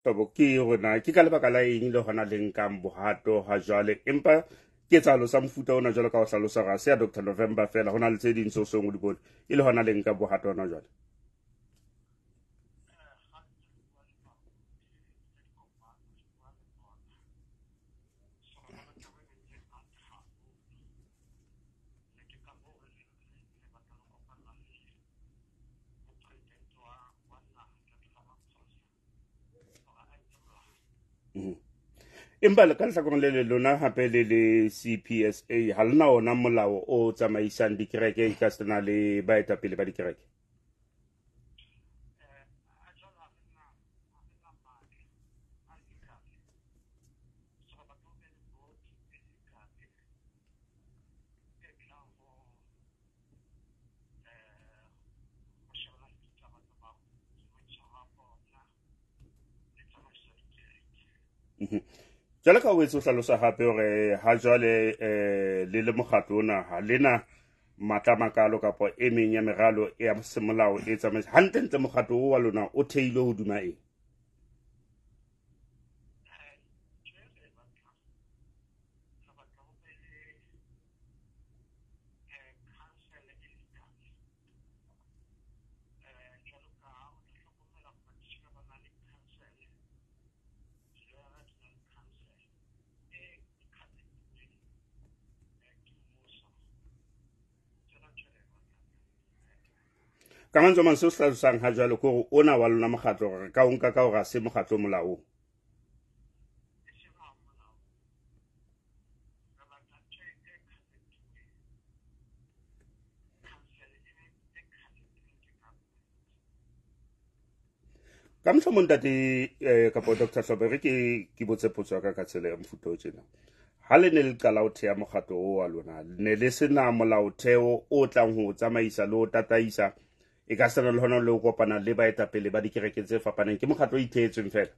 Hlobo, ke hore na ke ka lebaka la eng le hona le nkang bohato ha jwale, empa ketsahalo sa mofuta ona jwalo ka ho hlalosa hore ha se ya Dr November fela, ho na le tse ding tseo seng o di bone, e le hona le nka bohato hona jwale? Empa le ka lehlakoreng le le lona hape le le CPSA ha lena ona molao o tsamaisang dikereke e ka sena le baetapele ba dikereke? Jwale ka o etse o hlalosa hape hore ha jwale le le mokgatlo ona ha lena matla makalo kapa e meng ya meralo ya semolao e tsamaisa hantle-ntle, mokgatlo o wa lona o theilwe hodima eng? Ka mantswe a mang, seo se hlalosang ha jwale ke hore ona wa lona mokgatlo re ka o nka ka hore ha se mokgatlo molaong? Ka mohlomong ntate kapo Dr Hlobo, re ke botse potso ya ka ka tsela ya mofuta o tjena. Ha le ne le qala ho theha mokgatlo o wa lona, ne le sena molaotheo o tlang ho tsamaisa le ho tataisa, e ka sena le hona le ho kopana le baetapele ba dikereke tse fapaneng, ke mokgatlo o ithehetsweng fela?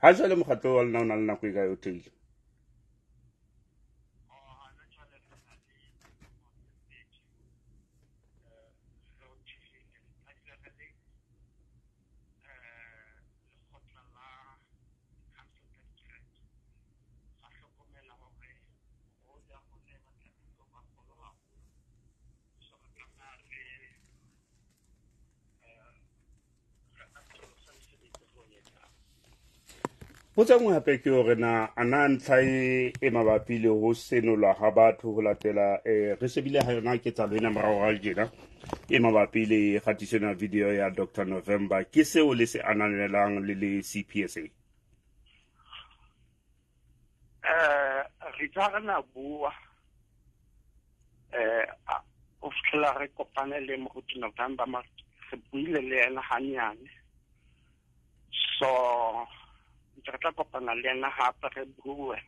Ha jwale mokgatlo wa lona o na le nako e kae o theile? Potso e nngwe hape ke hore na a na ntlha e mabapi le ho senolwa ha batho ho latela re shebile ha yona ketsahalo ena morao ga tjena e mabapi le kgatiso ena video ya Dr November, ke seo le se ananelang le le CPSA? Re tla re na bua o fitlhela re kopane le moruti November, re buile le ena hanyane, so ntse re tla kopana le ena hape re bue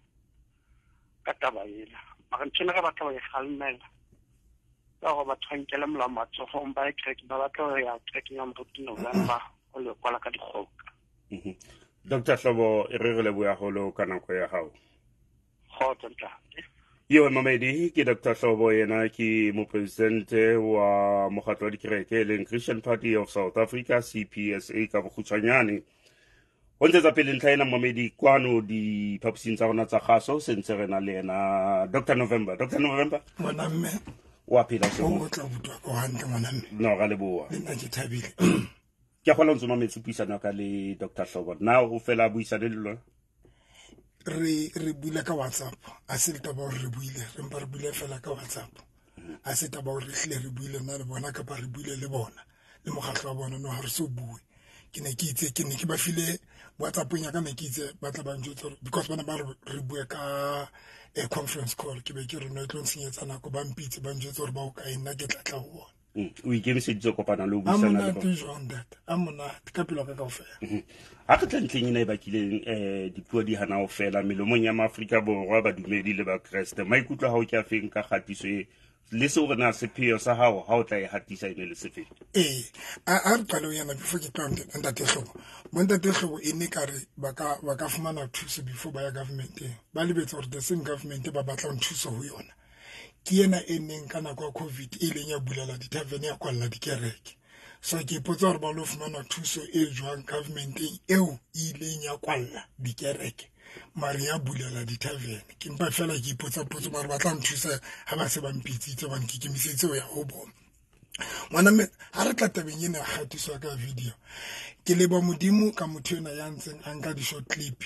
ka taba ena. Mara ntho ena re batla ho e kgalemela ka hore batho ba nkele molao matsohong, ba ye kereke, ba batla ho ya kerekeng ya moruti November o le kwala ka dikgoka. Dr Hlobo, e re re leboha haholo ka nako ya hao. Kgotso ntate. Yo mamedi, ke Dr Hlobo, yena ke mopresidente wa mokgatlo wa dikereke e leng Christian Party of South Africa, CPSA ka bokgutshwanyane. Ho ntshetsa pele ntlha ena mamedi kwano diphaposing tsa rona tsa kgaso, se ntse re na le yena Dr November. Dr November, ngwana mme, wa phela o o tla butwa ko hantle ngwana mme. No, ra leboha. Le nna ke thabile. Ke a kgolwa o ntso mametse puisano ya ka le Dr Hlobo. Na o fela buisane le lona? Re buile ka WhatsApp, a se taba hore re buile, re mpa re buile fela ka WhatsApp. A se taba hore re hlile re buile nna le bona kapa re buile le bona le mokgatlo wa bona, no ha re so bue. Ke ne ke itse, ke ne ke ba file WhatsApp-ong ya ka, ne ke itse ba tla ba njwetsa hore because bana ba re bue ka a conference call, ke be ke re no e tlo ntshenyetsa nako, ba mpitse ba njwetse hore ba o kae, nna ke tla tla ho bona. O ikemiseditse kopana le ho buisana le bona. Jwang ntate? A monate ka pelo ka kaofela. Ha re tla ntlheng ena e bakileng dipuo di hana ho fela melomong ya Maafrika Borwa, badumedi le Bakreste, maikutlo a hao ke a feng ka kgatiso e le seo re na sepheo sa hao ha o tla e hatisa e ne le sefeng? Ee, a re qale ho yana before ke tloha ntate Hlobo. Bo ntate Hlobo e ne kare ba ka fumana thuso before ba ya governmenteng. Ba lebetse hore the same government ba batlang thuso ho yona. Ke ena e neng ka nako ya COVID e leng ya bulela di-tavern ya kwalla dikereke. So ke ipotsa hore ba lo fumana thuso e jwang governmenteng eo e ileng ya kwalla dikereke mare ya bulela di-tavern. Ke mpa fela ke ipotsa potso mare ba tla nthusa ha ba se ba mpitsitse hobane ke ikemiseditse ho ya ho bona. Ngwana mme ha re tla tabeng ena ya kgatiso ka video, ke leba Modimo ka motho ena ya ntseng a nka di-short clip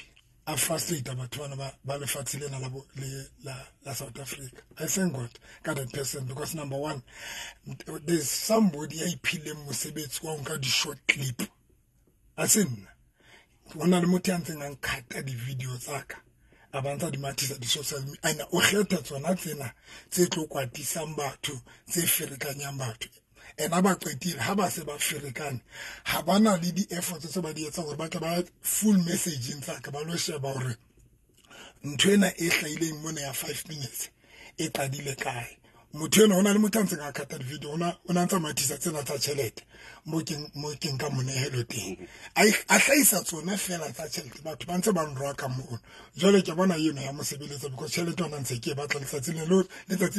a frustrate batho bana ba lefatshe lena la South Africa. I thank God ka that person because number one, there's somebody ya iphileng mosebetsi wa ho nka di-short clip. A se nna. Ho na le motho ya ntseng a nkhata di-video tsa ka, a ba ntsa di mathisa di-social media. Ena o kgetha tsona tsena tse tlo kwatisang batho, tse ferekanyang batho. Ena ba qetile ha ba se ba ferekane, ha ba na le di-efforts tse ba di etsang hore ba tle ba full messaging tsa ka, ba lo sheba hore ntho ena e hlahileng mona ya 5 minutes e qadile kae. Motho ena ho na le motho a ntseng a khata di-video, o na ntsa mathisa tsena tsa tjhelete mo keng ka monehelo teng, a hlahisa tsona fela tsa tjhelete, batho ba ntse ba nroa ka mono. Jwale ke bona eno ya mosebeletsa because tjhelete yona ntse ke e batla letsatsi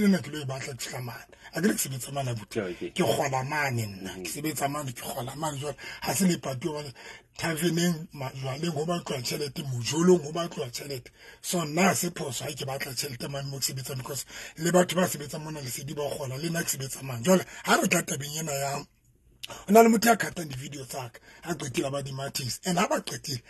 lena ke lo e batla ke fihla mane. A ke re ke sebetsa mane abuti, ke kgola mane nna, ke sebetsa mane, ke kgola mane. Jwale ha se lepati hobane taverneng majwaleng ho batluwa tjhelete, mojolong ho batluwa tjhelete. So nna se phoso ha ke batla tjhelete mane mo ke sebetsang because le batho ba sebetsang mona lesedi ba kgola, le nna ke sebetsa mane. Jwale ha re tla tabeng ena ya ho na le motho ya khatang di-video tsa ka, ha qetile ba di mathisa. And ha ba qetile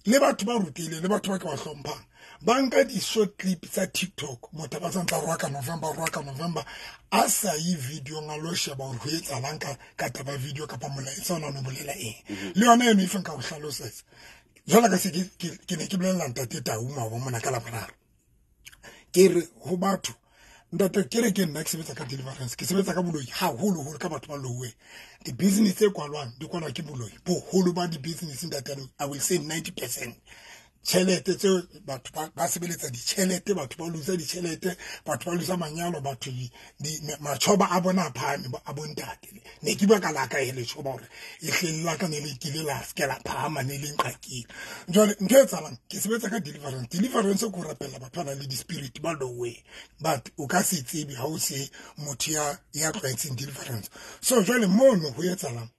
le batho ba rutehileng le batho ba ke ba hlomphang, ba nka di-short clip tsa TikTok, motho ba sa ntla roa ka November, a sa ye video-ng a lo sheba hore ho etsahalang ka taba video kapa molaetsa ona o no bolela eng. Le yona eno e feng ka ho hlalosetsa. Jwale ka se ke ne ke bolella ntate Tau maoba mona ka Laboraro, ke re ho batho, ntate ke re ke nna ke sebetsa ka deliverance, ke sebetsa ka boloi haholoholo ka batho ba louweng. Di-business tse kwalwang di kwalwa ke boloi. Boholo ba di-business ntate, I will say 90%. Tjhelete tseo batho ba sebeletsa ditjhelete, batho ba losa ditjhelete, batho ba losa manyalo, batho matjhoba a bona a phahame a bontate. Ne ke bua ka la ka e letjhoba hore e hleng la ka ne le kile la se ke la phahama, ne le nqakile. Jwale ntho e etsahalang, ke sebetsa ka deliverance. Deliverance ke ho rapella batho ba nang le di-spirit ba loweng, but o ka se tsebe ha o se motho ya tlwaetseng deliverance. So jwale mono ho etsahalang,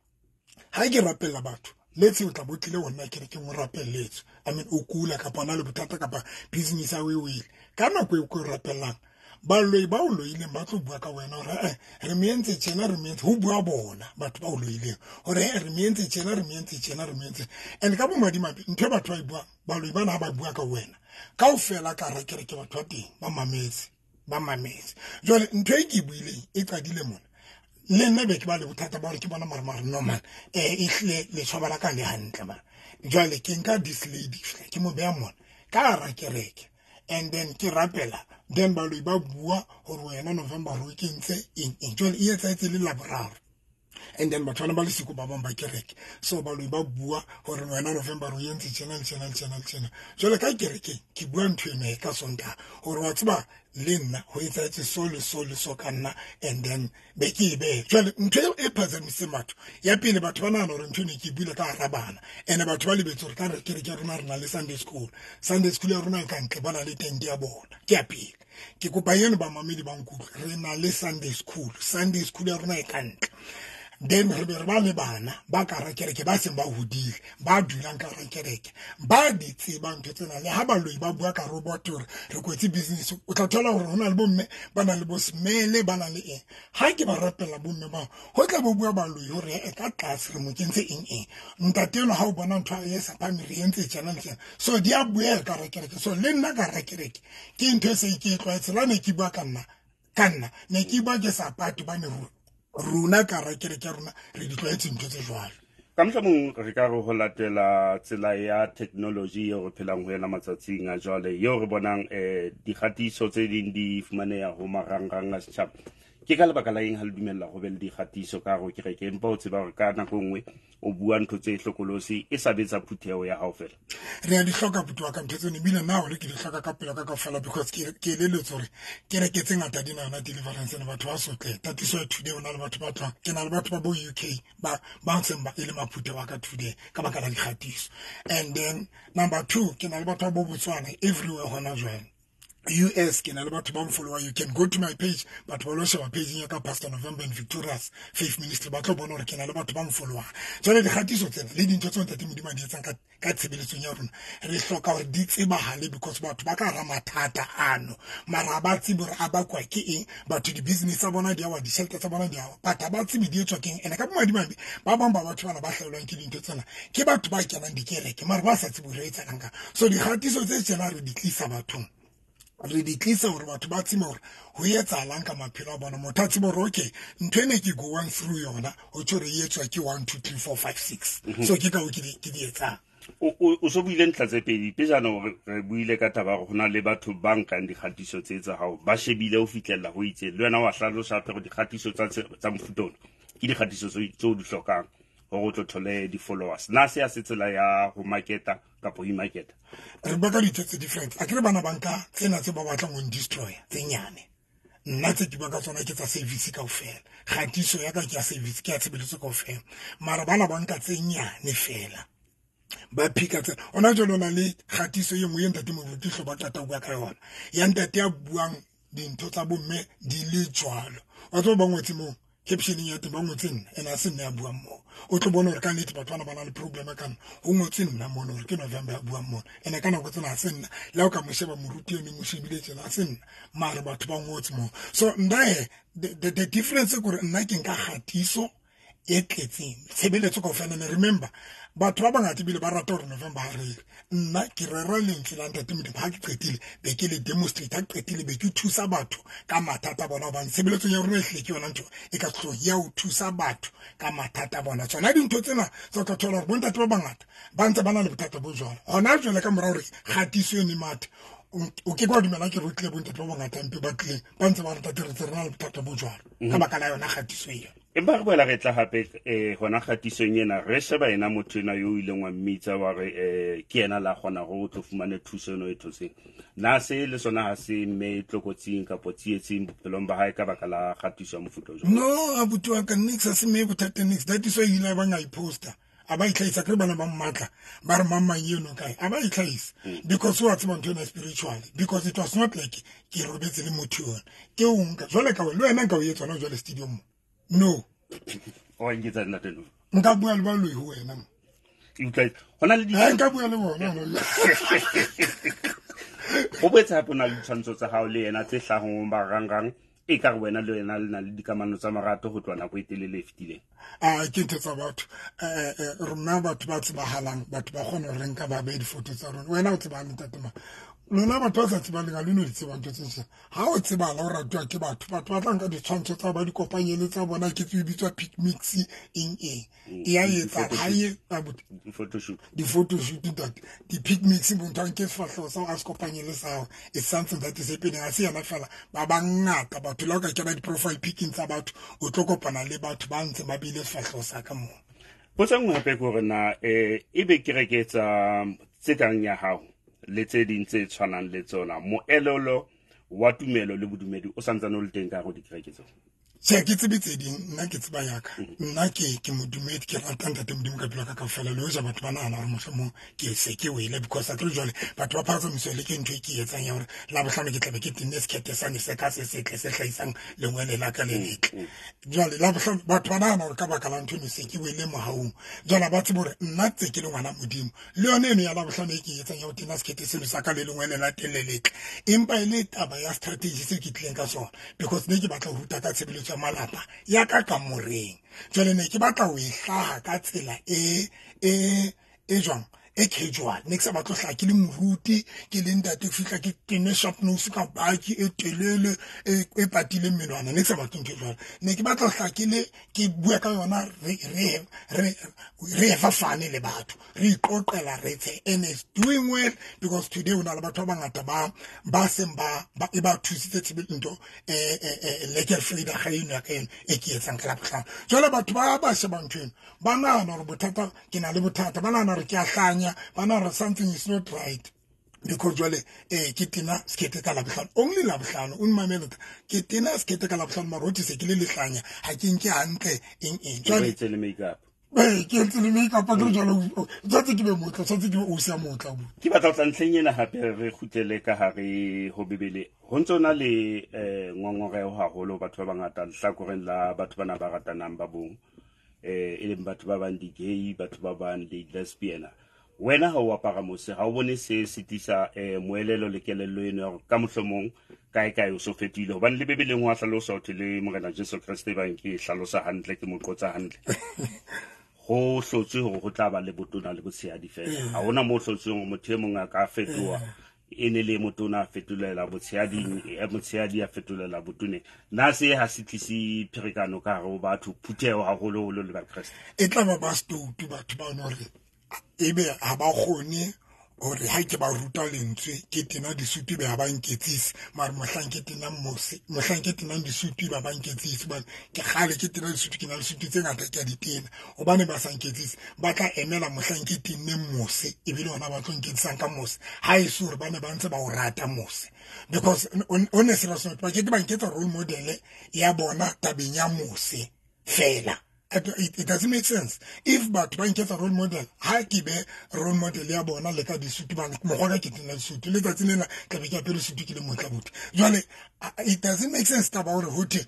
ha ke rapella batho, let's say o tla bo tlile ho nna ke re ke mo rapelletswe, I mean o kula kapa o na le bothata kapa business ya o e wele, ka nako eo ke o rapellang, baloi ba o loileng ba tlo bua ka wena hore re me entse tjena, re me entse, ho bua bona batho ba o loileng hore re me entse tjena, re me entse tjena, re me entse. And ka bomadimabe ntho e batho ba e buang, baloi bana ha ba bua ka wena kaofela ka hara kereke batho ba teng ba mametse. Jwale ntho e ke e buileng e qadile mona. Le nna be ke ba le bothata ba hore ke bona mare no man, e hlile letjhoba la ka le hantle man. Jwale ke nka this lady ke mo beha mona ka hara kereke, and then ke rapela, then baloi ba bua hore wena November hore o kentse eng eng. Jwale e etsahetse le Laboraro, and then batho bana ba le siko ba bang ba kereke, so baloi ba bua hore wena November o entse tjena le tjena le tjena le tjena. Jwale ka kerekeng ke bua ntho eno e ka Sontaha hore wa tseba le nna ho etsahetse so le so le so ka nna, and then be ke e behe. Jwale ntho e phazamiseng batho ya pele, batho ba nahana hore ntho eno ke e buile ka hara bana, and batho ba lebetse hore ka re kereke ya rona re na le Sunday school. Sunday school ya rona e ka ntle, ba na le tente ya bona. Ke ya pele. Ke kopa eno bamamedi ba nkutlwe, re na le Sunday school. Sunday school ya rona e ka ntle. Then re be re ba le bana ba ka hara kereke ba seng ba hodile, ba dulang ka hara kereke, ba di tsebang ntho tsena. Le ha baloi ba bua ka robot hore re kwetse business, o tla thola hore ho na le bomme ba nang le bo smele, ba nang le eng. Ha ke ba rapella bomme bao, ho tla bo bua baloi hore e ka tlase re mo kentse eng eng. Ntate eno ha o bona ntho e sa phame re entse tjena le tjena. So di a buela ka hara kereke. So le nna ka hara kereke ke ntho e se ke e tlwaetse. La ne ke bua ka nna, ne ke bua ke sa pate bane rona ka hara kereke ya rona re di tlwaetse ntho tse jwalo. Ka mohlomong re ka re ho latela tsela ya technology eo re phelang ho yona matsatsing a jwale, eo re bonang dikgatiso tse ding di fumaneha ho marangrang a setjhaba. Ke ka lebaka la eng ha le dumella ho be le dikgatiso ka hare ho kereke, empa o tseba hore ka nako nngwe o bua ntho tse hlokolosi e sa betsa phutheho ya hao fela? Re a di hloka buti wa ka ntho tseno, ebile nna hore ke di hloka ka pelo ka kaofela, because ke eleletswe hore kereke tse ngata di na yona deliverance ena, batho ba sotle. That is why today o na le batho ba tlohang, ke na le batho ba bo UK ba ntseng ba e le maphutheho a ka today ka baka la dikgatiso. And then number 2, ke na le batho ba bo Botswana everywhere hona jwale. US ke na le batho ba mfollowa. You can go to my page, batho ba lo sheba page ya ka Pastor November and Victorious Faith Ministry, ba tlo bona hore ke na le batho ba mfollowang. Jwale dikgatiso tsena le dintho tseo Ntate Modimo a di etsang ka tshebeletsong ya rona, re hloka hore di tsebahale, because batho ba ka hara mathata ano, mara ha ba tsebe hore a bakwa ke eng. Batho di-business tsa bona di a wa, ditjhelete tsa bona di a wa, but ha ba tsebe di etswa ke eng. Ene ka bomadimabe ba bang ba batho bana ba hlahelwang ke dintho tsena ke batho ba kenang dikereke mara ba sa tsebe hore etsahalang ka. So dikgatiso tse tjena re di tlisa bathong, re di tlisa hore batho ba tsebe hore ho etsahalang ka maphelo a bona. Motho a tsebe hore okay, ntho ena ke going through yona, ho tjho hore e etswa ke 1 2 3 4 5 6. So ke ka ho ke di etsang. O so buile ntlha tse pedi pejana, hore re buile ka taba hore ho na le batho ba nkang dikgatiso tse tsa hao, ba shebile ho fihlella ho itseng. Le wena wa hlalosa hape hore dikgatiso tsa mofuta ona ke dikgatiso tseo di hlokang hore o tlo thole di-followers. Na se ya se tsela ya ho marketa kapa ho imarketa? Re bua ka dintho tse different. Akere bana ba nka tsena tse ba batlang ho destroy tse nyane. Nna tse ke bua ka tsona ke tsa service kaofela. Kgatiso ya ka ke ya service, ke ya tshebeletso kaofela. Mara bana ba nka tse nyane fela, ba phika tsena. Hona jwale o na le kgatiso e nngwe e Ntate Moruti Hlobo a qeta ho bua ka yona, ya ntate ya buang dintho tsa bomme di le jwalo. Wa tseba ba ngotse moo captioneng ya teng, ba ngotse nna, ene ha se nna ya buang moo. O tlo bona hore ka nnete batho bana ba na le problem ka nna. Ho ngotswe nna mono hore ke November ya buang mono, ene ka nako tsena ha se nna. Le ha o ka mo sheba moruti eno, mo shebile tjena, ha se nna, mare batho ba ngotse moo. So nna he, the difference ke hore nna ke nka kgatiso e tletseng tshebeletso kaofela. And remember, batho ba bangata ebile ba rata hore November ha rere. Nna ke rera lentswe la Ntate Modimo, ha ke qetile be ke le demonstrate, ha ke qetile be ke thusa batho ka mathata a bona, hobane tshebeletsong ya rona e hlile ke yona ntho e ka hloohong ya ho thusa batho ka mathata a bona. Tsona dintho tsena tsa tla thola hore bontate ba bangata ba ntse ba na le bothata bo jwalo. Hona jwale ka mora hore kgatiso eno e mathe, o ke ke wa dumela ke re o tlile bontate ba bangata mpe ba tlileng ba ntse ba re ntate re tse re na le bothata bo jwalo ka baka la yona kgatiso eo. Empa re boela re tla hape hona kgatisong ena, re sheba ena motho ena yo o ileng wa mmitsa wa re ke yena la kgona hore o tlo fumane thuso eno e thotseng. Na se le sona ha se mme tlokotsing kapa tsietsing bophelong ba hae ka baka la kgatiso ya mofuta o jwalo? No, abuti wa ka, nix ha se mme bothata nix. That is why ile ba nga i-poster. A ba itlhahisa, ke re bana ba mmatla, ba re mang mang eno kae, a ba itlhahisa. Because wa tseba ntho ena spiritually, because it was not like ke robetse le motho yona. Ke o nka, jwale ka le wena nka o etsa hona jwale studio mo. No. O nketsa nna teng. Nka bua le baloi ho wena mo. Utlwa, hona le di- Ha, nka bua le bona, hona. Ho boetse hape ho na le ditshwantsho tsa hao le yena tse hlahang marangrang, e ka re wena le yena le na le dikamano tsa marato ho tloha nako e telele e fetileng. A ke ntho tsa batho. Rona batho ba tsebahalang, batho ba kgona hore re nka ba behe difoto tsa rona. Wena o tsebang ntate mang? Lona batho ba sa tsebaleng ha le no di tseba ntho tse tjena. Ha o tsebahala, o ratuwa ke batho, batho ba tla nka ditshwantsho tsa ba di kopanye le tsa bona, ke tsebe bitswa pic mix eng eng. E ya etsa, ha e, abuti. Di-photoshoot. Di-photoshoot, ntate. Di-pic mix, motho a nke sefahleho sa hao, a se kopanye le sa hao. It's something that is happening. Ha se yena fela, ba bangata batho. Le ha o ka kena di-profile picking tsa batho, o tlo kopana le batho ba ntse ba beile sefahleho sa ka moo. Potso e nngwe hape ke hore na, ebe kereke tse kang ya hao le tse ding tse tshwanang le tsona, moelelo wa tumelo le bodumedi o santsane o le teng ka hare ho dikereke tseo? Tjhe, ke tsebe tse ding, nna ke tseba ya ka. Nna ke modumedi, ke rata Ntate Modimo ka pelo ya ka kaofela. Le hoja batho ba nahana hore mohlomong ke se ke wele, because akere jwale batho ba phahamiswa le ke ntho e ke e etsang ya hore Labohlano ke tlabe ke tenne sekhethe sane se ka se setle se hlahisang lengwele la ka le letle. Jwale Labohlano batho ba nahana hore ka baka la ntho eno se ke wele mohaung. Jwale ba tsebe hore nna tse ke le ngwana Modimo, le yone eno ya Labohlano e ke e etsang ya ho tena sekhethe seno sa ka le lengwele la teng le letle, empa e le taba ya strategy se ke tlileng ka sona, because ne ke batla ho ruta ka tshebeletso ya malapa ya ka kamoreng. Jwale ne ke batla ho e hlaha ka tsela e jwang, e casual. Ne ke sa batle ho hlaha ke le moruti, ke le ntate, fihla ke tene sharp nose ka baki e telele e patileng menwana. Ne ke sa batle ntho e jwalo. Ne ke batla ho hlaha ke le ke bua ka yona, re fafane le batho, re iqoqela, re tshe. And it's doing well because today o na le batho ba bangata ba seng ba e ba thusitse tshebetso ntho lekker Frida ga eno ya ka eno e ke etsang ka Labohlano. Jwale batho ba sheba ntho eno, ba nahana hore bothata ke na le bothata, ba nahana hore ke a hlanya, ba nahana hore something is not right. Because jwale ke tena sekete ka Labohlano, only Labohlano, o mmamele, ke tena sekete ka Labohlano, mara hothwe se ke le lehlanya, ha ke nke hantle eng eng. Jwale ke etse le makeup. Ke etse le makeup, ke jwale tshwantse ke be motla, tshwantse ke be o sia motla bo. Ke batla ho tla ntlheng ena hape re kgutlele ka hare ho Bibele. Ho ntso na le ngongoreho haholo batho ba bangata lehlakoreng la batho bana ba ratanang ba bong, e leng batho ba bang di-gay, batho ba bang di-lesbian. Wena ha o apara mose, ha o bone se sitisa moelelo le kelello eno ya hore ka mohlomong kae kae o so fetohile? Hobane le Bibeleng ho a hlalosa ho thwe le Morena Jesu Kreste bang ke hlalosa hantle, ke mo qotsa hantle. Ho hlotswe hore ho tla ba le botona le botshehadi fela. Ha hona moo hlotsweng hore motho e mong a ka fetoha, e ne le motona a fetolela botshehading, motshehadi a fetolela botoneng. Na se ha se tlise pherekano ka hare ho batho, phutheho haholoholo le Bakreste? E tla ba ba stoutu batho ba hore ebe ha ba kgone hore ha ke ba ruta lentswe ke tena disutu be ha ba nketsise, mara mohlang ke tena mose, mohlang ke tenang disutu ba ba nketsise, hobane ke kgale ke tena disutu, ke na le disutu tse ngata ke a di tena, hobane ba sa nketsise ba tla emela mohlang ke tenneng mose, ebile hona ba tlo nketsisang ka mose, ha e se hore ba ne ba ntse ba o rata mose. Because on a serious note, ba ke ke ba nketsa role model ya bona tabeng ya mose fela. It doesn't make sense. If batho ba nketsa role model, ha ke be role model ya bona le ka disutu, ba mokgwa ka ke tena disutu, letsatsi lena tla be ke apere sutu ke le motla botho. Jwale it doesn't make sense taba hore ho thwe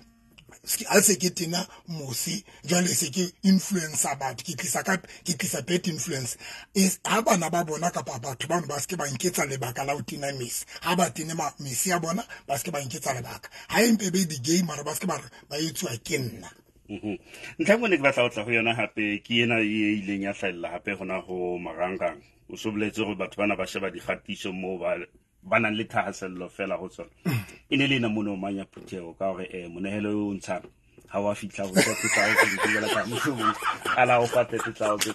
ha se ke tena mose, jwale se ke influencer batho, ke tlisa ka, ke tlisa bad influence. Is ha bana ba bona kapa batho bano ba se ke ba nketsa lebaka la ho tena mese, ha ba tene mese ya bona ba se ke ba nketsa lebaka, ha e mpe be di-gay mara ba se ke ba re ba etsuwa ke nna. Ntlha e nngwe ne ke batla ho tla ho yona hape ke ena e ileng ya hlahella hape hona ho marangrang. O so boletse hore batho bana ba sheba dikgatiso moo ba nang le thahasello fela ho tsona. E ne le ena mono mang ya phutheho ka hore monehelo o ntshang ha wa fihla ho 30,000, ke jwalo ka mohlomong a la o fa 30,000.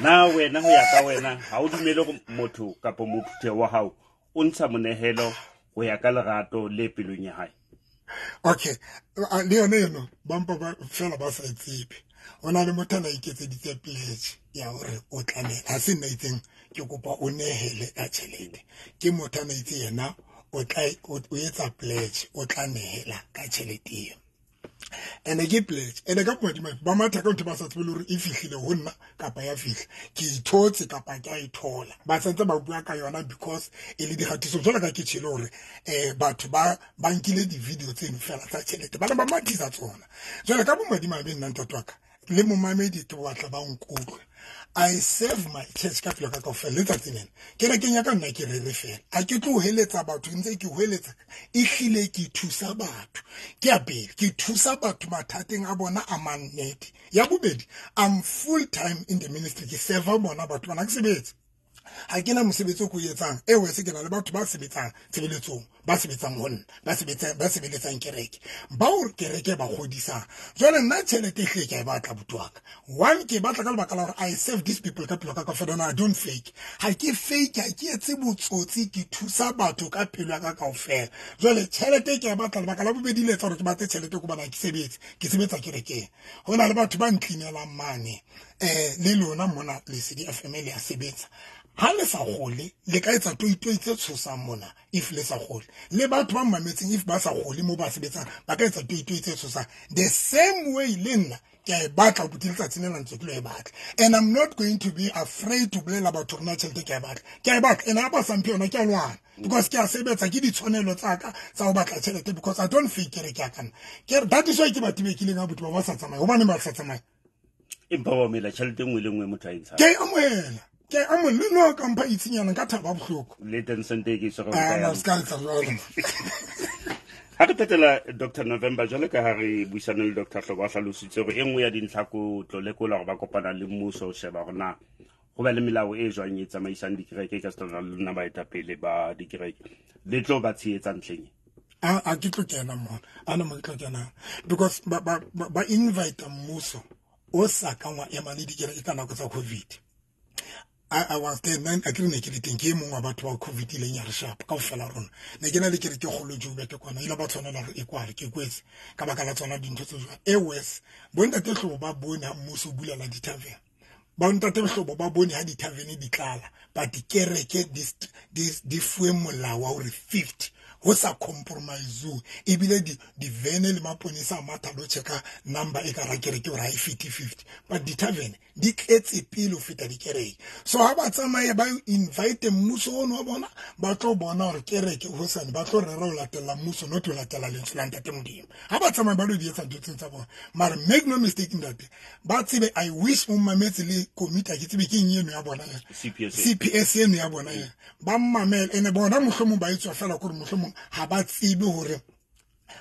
Na wena ho ya ka wena ha o dumele hore motho kapa mophutheho wa hao o ntsha monehelo ho ya ka lerato le pelong ya hae? Okay, le yone eno ba mpa ba fela ba sa e tsebe. Ho na le motho a na iketseditse pledge ya hore o tlamehile, ha se nna itseng ke kopa o nehele ka tjhelete, ke motho a na itse yena o tla o etsa pledge, o tla nehela ka tjhelete eo. Ene ke pledge, ene ka bomadimabe ba matha ka ntho ba sa tsebe le hore e fihlile ho nna kapa ya fihla, ke ithotse kapa ke a e thola, ba santse ba bua ka yona because e le dikgatiso. Jwalo ka ke tjhele hore batho ba nkile di-video tseno fela tsa tjhelete, ba ne ba mathisa tsona. Jwale ka bomadimabe nna ntate wa ka le momamedi ke batla ba nkutlwe, I serve my church ka pelo ka kaofela letsatsi lena. Kerekeng ya ka nna ke rere fela, ha ke tlo heletsa batho, ntse ke hoeletsa, ehlile ke thusa batho. Ke ya pele, ke thusa batho mathateng a bona a mannete. Ya bobedi, I'm full time in the ministry, ke serve bona batho bana, ke sebetse. Ha ke na mosebetsi o ke o etsang, e wese ke na le batho ba sebetsang tshebeletsong, ba sebetsang ho nna, ba sebetsang, ba sebeletsang kereke, bao kereke ba kgodisang. Jwale nna tjhelete ehlile ke a e batla buti wa ka. One, ke e batla ka lebaka la hore I serve these people ka pelo ka kaofela, no, I don't fake. Ha ke fake, ha ke etse botsotsi, ke thusa batho ka pelo ya ka kaofela. Jwale tjhelete ke a e batla, lebaka la bobedi le etsa hore ke batle tjhelete ke hobane ha ke sebetse, ke sebetsa kerekeng. Ho na le batho ba ntlinelang mane, le lona mona Lesedi FM le a sebetsa. Ha le sa kgole, le ka etsa toitoi tse tshosang mona if le sa kgole. Le batho ba mametseng if ba sa kgole moo ba sebetsang, ba ka etsa toitoi tse tshosang. The same way le nna ke a e batla buti letsatsi lena ntse ke lo e batla. And I'm not going to be afraid to bolela batho hore na tjhelete ke a e batla. Ke a e batla, and ha ba sa mphe yona ke a lwana. Because ke a sebetsa, ke ditshwanelo tsa ka tsa ho batla tjhelete, because I don't fake kereke ya ka nna. Ke re, that is why ke ba tibekileng ha buti ba ba sa tsamaye. Hobaneng ba sa tsamaye? Empa wa mela tjhelete e nngwe le nngwe motho a e ntshang. Ke a amohela. Ke a amohela, le nna ka mpha itsinyana nka thaba bohloko. Le ten cent e ke e tshwere Ah, ho kae? no, se ka etsa jwalo. Ha re phethela Doctor November, jwale ka ha re buisane le Doctor Hlobo, a hlalositse hore e nngwe ya dintlha ko tlo lekola hore ba kopana le mmuso ho sheba hore na Ho ba le melao e jwang e tsamaisang dikereke ka setana le lona baetapele ba dikereke le tlo ba tshehetsa ntlheng? A ke tlo kena mona, ana mo ke tlo kenang, because ba invite mmuso o sa kang wa ema le dikereke ka nako tsa COVID. I was there, a ke ne ke le teng, ke e mongwe wa batho ba COVID ileng ya re sharp kaofela rona. Ne ke na le kereke kgolo Joburg kwana, ile ba tshwanela hore e kwale, ke kwetse ka baka la tsona dintho tse jwalo. E worse, bontate Hlobo ba bone ha mmuso o bulela di-tavern, bontate Hlobo ba bone ha di-tavern di tlala, but dikereke di fuwe molao wa hore 50 ho sa compromise, ebile di-vene le maponesa a matha lo checka number e ka ra kereke hore ha e fete 50, but di-tavern di tletse pele ho feta dikereke. So ha ba tsamaye ba invite mmuso ono wa bona, ba tlo bona hore kereke hosane ba tlo rera ho latela mmuso, not ho latela lentswe la Ntate Modimo. Ha ba tsamaye ba lo di etsa ntho tseo tsa bona, mara make no mistake ntate, ba tsebe. I wish mo mametse le committee, ha ke tsebe ke eng eno ya bona ya CPS. CPS eno ya bona ya ba mmamele, ene bona mohlomong ba etswa fela kore mohlomong ha ba tsebe hore,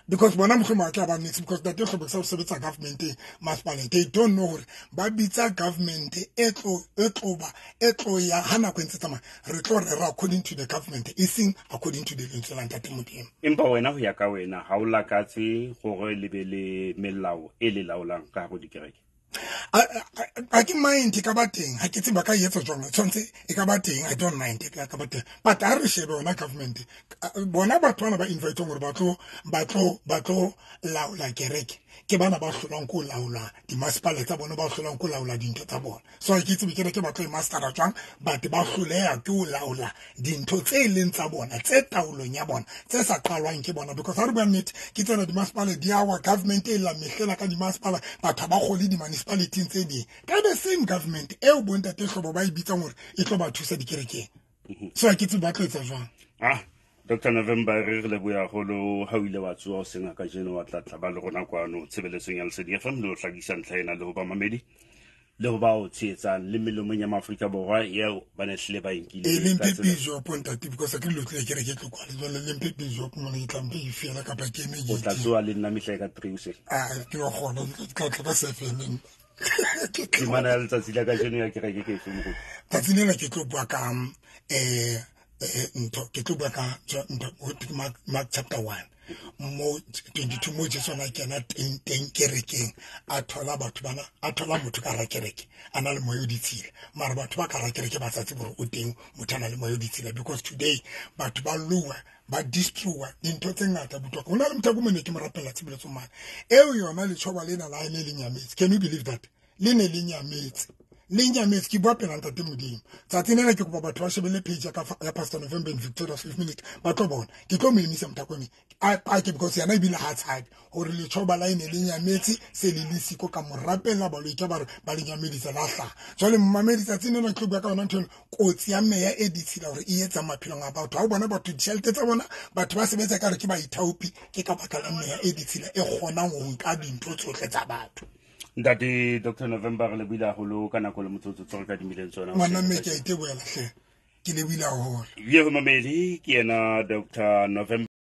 because bona mohlomong ba tla ba mix, because Ntate Hlobo sa sebetsa government masepaleng, they don't know hore ba bitsa government e tlo e tlo ba e tlo ya ha nako e ntse tsamaya, re tlo rera according to the government, e seng according to the lentswe la Ntate Modimo. Empa wena, ho ya ka wena, ha o lakatse hore le be le melao e le laolang ka hare ho dikereke? A ke mind, e ka ba teng, ha ke tsebe ba ka etsa jwang, tshwanetse e ka ba teng, I don't mind, e ka ba teng, but ha re shebe yona government, bona batho bana ba inviteng hore ba tlo laola kereke, ke bana ba hlolang ko laola dimasepala tsa bona, ba hlolang ko laola dintho tsa bona. So ha ke tsebe kereke ba tlo e mastera jwang, but ba hloleha ke ho laola dintho tse leng tsa bona, tse taolong ya bona, tse sa qalwang ke bona. Because ha re bua nnete, ke tsena dimasepala di awa, government e la mehlela ka dimasepala, batho ha ba kgole di-municipalityng tse ding, ka the same government eo bontate Hlobo ba e bitsang hore e tlo ba thusa dikerekeng. So ha ke tsebe ba tlo etsa jwang. Dr November, re leboha haholo ha o ile wa tsoha o senga kajeno, wa tla tla ba le rona kwano tshebeletsong ya Lesedi FM, le ho hlakisa ntlha ena le ho ba mamedi le ho ba o tshehetsang le melomong ya Maafrika Borwa eo ba ne hlile ba e nkile E le ka mphe tsela. Bishop ntate, because ke dilo tlile kereke tlo kwale jwale, le mphe bishop mona, ke tla mphe e fela kapa ke eme. O tla Ke tsoha le nna mehla e ka 3 hoseng. A ke wa kgona, ke tla tla ka 7. Temana ya letsatsi la kajeno ya kereke ke efe, moruti? Tsatsi lena ke tlo bua ka ntho, ke tlo bua ka ntho ho thwe Mark chapter 1 mo 22, mo Jesu na kena teng teng kerekeng, a thola batho bana, a thola motho ka hara kereke a na le moya o ditshila, mara batho ba ka hara kereke ba sa tsebe hore o teng motho a na le moya o ditshila, because today batho ba lowa, ba destroya dintho tse ngata botlhokwa. Ho na le motho a ko mone ke mo rapella tshebeletso mane eo yona, letjhoba lena la hae le le nyametse. Can you believe that? Le ne le nyametse, le nyametse, ke bua pela Ntate Modimo. Tsatsi lena ke kopa batho ba shebelle page ya ka ya Pastor November in Victoria 5 minute, ba tlo bona ke tlo mo emisa mothakone a pake, because yena ebile ha tshabe hore letjhoba la ene le nyametse, se le le siko ka mo rapella, baloi ke ba re ba le nyamedisa la hlaha. Jwale mmamedi, tsatsi lena ke tlo bua ka yona ntho eno, kotsi ya meya e ditshila hore e etsa maphelong a batho. Ha o bona batho ditjhelete tsa bona, batho ba sebetsa ka re ke baithaopi, ke ka baka la meya e ditshila e kgonang ho nka dintho tsohle tsa batho. Ntate Dr November, re lebohile haholo ka nako le motsotso tse re kadimileng tsona. Ngwana mme, ke a itebohela hle, ke lebohile haholo. Ye ho mamedi, ke yena Dr November.